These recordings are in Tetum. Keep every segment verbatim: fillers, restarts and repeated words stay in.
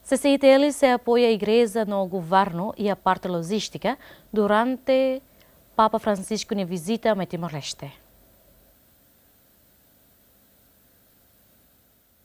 C C I T L sei apoia igreja no governu iha parte lojístika durante Papa Francisco nia vizita mai Timor-Leste.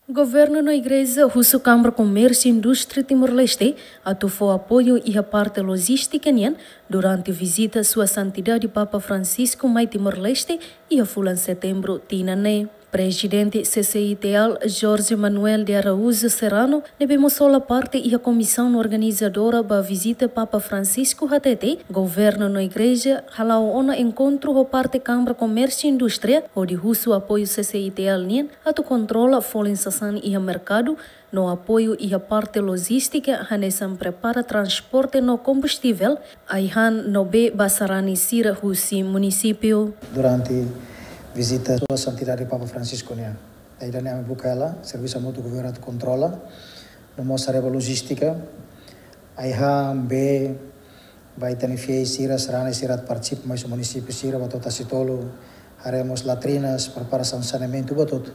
Governu no igreja husu Kámara Komérsiu Indústria Timor-Leste atu fó apoiu iha parte lojístika nian durante vizita Sua Santidade Papa Francisco mai Timor-Leste iha fulan Setembru tinan ne'e. Prezidente C C I T L, Jorge Manuel de Araújo Serrano, ne'ebé mós hola parte iha komisaun organizadora ba vizita Papa Francisco hatete, governu no igreja hala'o ona enkontru ho parte Kámara Komérsiu Indústria, hodi husu apoiu C C I T L nian atu kontrola folin sasán iha merkadu, no apoiu iha parte lojístika hanesan prepara transporte no kombustivel, ai-han no bee ba sarani sira husi munisípiu. Durante vizita Sua Santidade Papa Francisco nian, ida-ne'e ami buka hela, servisu hamutuk ho governu atu kontrola, no mós haree ba lojístika, ai-han, bee, ba ita-nia fiéis sira, sarani sira atu partisipa mai husi munisípiu sira, ba to'o Tasitolu, haree mós latrinas, preparasaun saneamentu, buat hotu.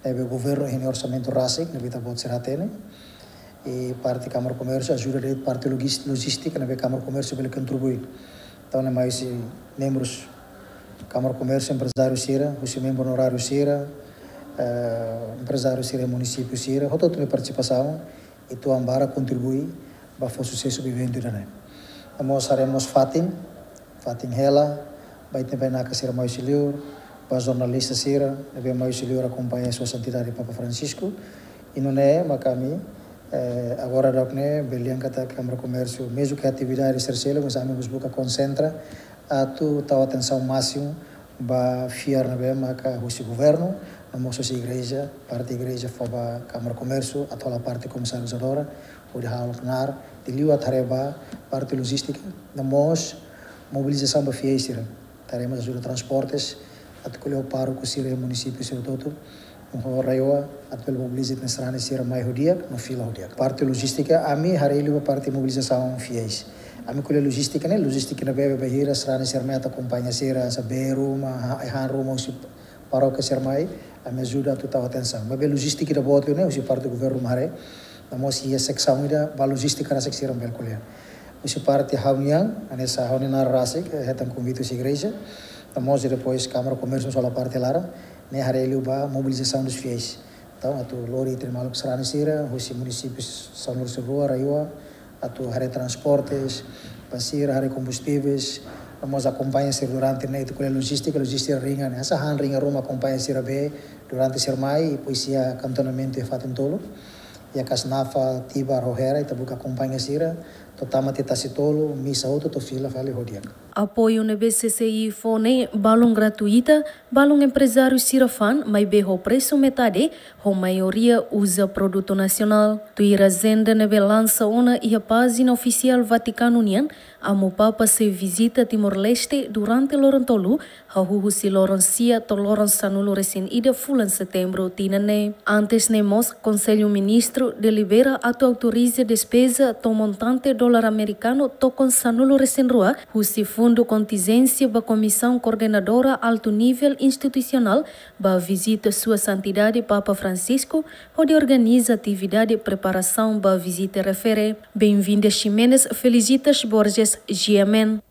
Ne'ebé governu iha nia orsamentu rasik, ne'ebé ita-boot sira hatene. I parte Kámara Komérsiu ajuda de'it parte logis-, lojístika, ne'ebé Kámara Komérsiu bele kontribui. Entaun, ne'e mai husi membrus Kámara Komérsiu, emprezáriu sira, husi membru onoráriu sira, eh, emprezáriu sira, munisípiu sira, hotu-hotu nia partisipasaun, ita-boot barak kontribui ba fó susesu ba eventu ida-ne'e. No mós haree mós fatin, fatin hela, ba ita-nia bainaka sira mai husi liur, ba jornalista sira ne'ebé mai husi liur akompaña Sua Santidade Papa Francisco. I nune'e mak ami, eh, agora daudaun ne'e, bele dehan katak Kámara Komérsiu, mezmu ke atividade sira seluk, mas ami mós buka konsentra atu tau atensaun másimu ba fiar ne'ebé maka husi governu, no mós husi igreja, parte igreja fó ba Kámara Komérsiu, atu hola parte komisarizadora, hodi halo knaar, liuliu atu haree ba parte lojístika, no mós mobilizasaun ba fiéis sira. Atu haree mós ajuda transportes, atu ko'alia ho pároku sira iha munisípiu sira hotu-hotu, ho RAEOA, atu bele mobiliza ita-nia sarani sira mai ho di'ak, no fila ho di'ak. Parte lojístika, ami haree liu ba parte mobilizasaun fiéis. Ami ko'alia lojístika ne'e, lojístika ne'ebé bainhira sarani sira mai atu akompaña sira, hanesan bee ruma, ha-, han ruma, husi parókia sira mai, ami ajuda atu tau atensaun. Maibé lojístika ida-boot liu ne'e, husi parte governu mak haree, no mós iha seksaun ida ba lojístika rasik sira bele ko'alia. Husi parte ha'u-nian, hanesan ha'u-nia naran rasik, eh, hetan konvite husi igreja, no mós depois Kámara Komérsiu hola parte laran, ne'e haree liu ba mobilizasaun dos fiéis. Entaun, atu lori ita-nia maluk sarani sira, husi munisípiu sanulu-resin-rua, RAEOA, atu haree transportes ba sira, haree kombustíveis, no mós akompaña sira durante ne'e, ita ko'alia lojístika, lojístika ringan ne'e, hanesan han ringan ruma akompaña sira bee durante sira mai, depois iha kantonamentu iha fatin tolu, iha Kasnafa, Tibar, ho Hera, ita buka akompaña sira, to'o tama tiha Tasitolu, misa hotu, to'o fila fali ho di'ak. Apoiu ne'ebé C C I fó ne'e balun gratuita, balun emprezáriu sira fa'an, maibé ho presu metade, ho maioria uza produtu nasionál. Tuir ajenda ne'ebé lansa ona iha pájina ofisiál Vatikanu nian, Amu Papa sei vizita Timor-Leste durante loron tolu, hahú husi loron sia to'o loron sanulu-resin-ida fulan Setembru tinan ne'e. Antes ne'e mós, Konsellu Ministru delibera atu autoriza despeza to'o montante dolar amerikanu tokon sanulu-resin-rua, husi fundu kontinjénsia ba Komisaun Koordenadora Altu Nivel Institusionál ba vizita Sua Santidade Papa Francisco, hodi organiza atividade preparasaun ba vizita refere. Benvinda Ximenes, Felicitas Borges, G M N.